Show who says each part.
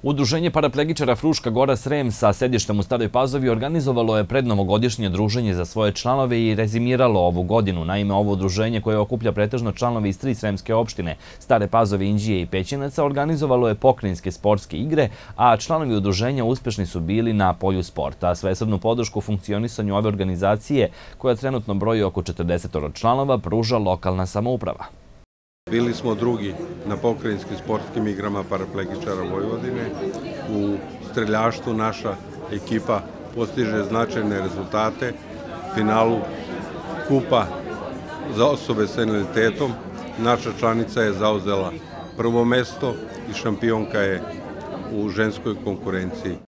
Speaker 1: Udruženje paraplegičara Fruška Gora Srem sa sedištem u Staroj Pazovi organizovalo je prednovogodišnje druženje za svoje članove i rezimiralo ovu godinu. Naime, ovo udruženje koje okuplja pretežno članove iz 3 sremske opštine, Stare Pazove, Inđije i Pećinaca, organizovalo je pokrajinske sportske igre, a članovi udruženja uspešni su bili na polju sporta. Svesrdnu podršku funkcionisanju ove organizacije, koja trenutno broji oko 40 članova, pruža lokalna samouprava.
Speaker 2: Bili smo drugi na pokrajinskim sportskim igrama paraplegičara Vojvodine. U streljaštvu naša ekipa postiže značajne rezultate. U finalu kupa za osobe sa invaliditetom naša članica je zauzela prvo mesto i šampionka je u ženskoj konkurenciji.